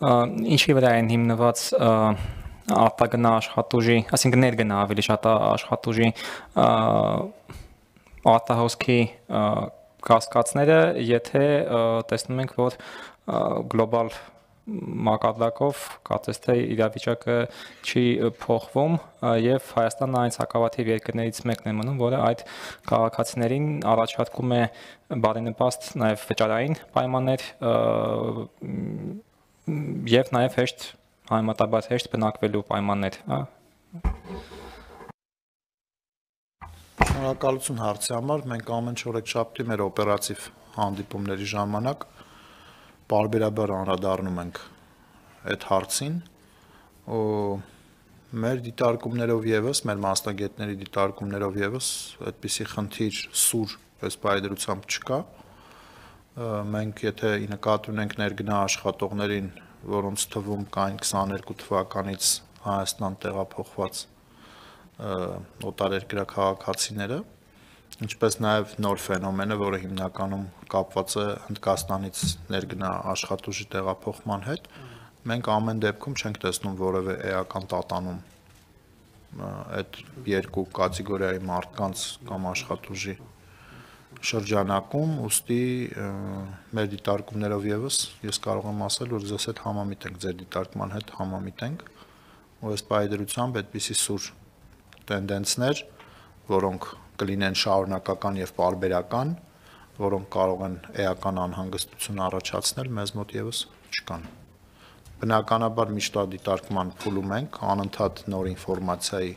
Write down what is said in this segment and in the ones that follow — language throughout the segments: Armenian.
ինչի վրա են հիմնված արտագնա աշխատուժի, այսինքն ներգնա ավելի շատ աշխատուժի արտահոսքի կասկածները, եթե տեսնում ենք, որ գլոբալ մակարդակով կարծես թե իրավիճակը չի փոխվում եւ Հայաստանն այն հակավաթիվ երկրներից մեկն է մնում, որը այդ քաղաքացիներին առաջարկում է բարենպաստ նաեւ վճարային պայմաններ եւ նաեւ հեշտ համեմատաբար հեշտ բնակվելու պայմաններ, Շնորհակալություն հարցի համար, մենք ամեն չորեքշաբթի մեր օպերատիվ հանդիպումների ժամանակ պարբերաբար անդրադառնում ենք այդ հարցին, մեր դիտարկումներով եւս, մեր մասնագետների դիտարկումներով եւս այդպիսի խնդիր սուր պես պայդրությամբ չկա, մենք եթե նկատի ունենք ներգնա աշխատողներին, որոնց թվում կային 22 թվականից Հայաստան տեղափոխված օտարերկրյա քաղաքացիները, ինչպես նաև նոր ֆենոմենը, որը հիմնականում կապված է Հնդկաստանից ներգնա աշխատուժի տեղափոխման հետ, մենք ամեն դեպքում չենք տեսնում որևէ էական տատանում այդ երկու կատեգորիայի մարդկանց կամ աշխատուժի շրջանակում, ուստի մեր դիտարկումներով եւս ես կարող եմ ասել, որ ձեզ հետ համամիտ ենք, ձեր դիտարկման հետ համամիտ ենք, ու այս պայդրությամբ այդպիսի սուր տենդենսներ, որոնք կլինեն շարունակական եւ պարբերական, որոնք կարող են էական անհանգստություն առաջացնել, մեզ մոտ եւս չկան։ Բնականաբար միշտադիտարկման փուլում ենք, անընդհատ նոր ինֆորմացիայի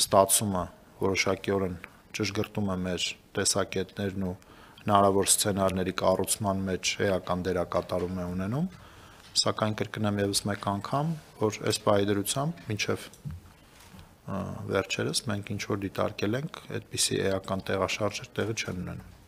ստացումը որոշակիորեն ճշգրտում է մեր տեսակետներն ու հնարավոր սցենարների կառուցման մեջ էական դերակատարում է ունենում, սակայն կրկնեմ եւս մեկ անգամ, որ այս պայդրությամբ մինչեւ վերջերս մենք ինչ որ դիտարկել ենք, այդպիսի էական տեղաշարժեր տեղի չեն ունենում։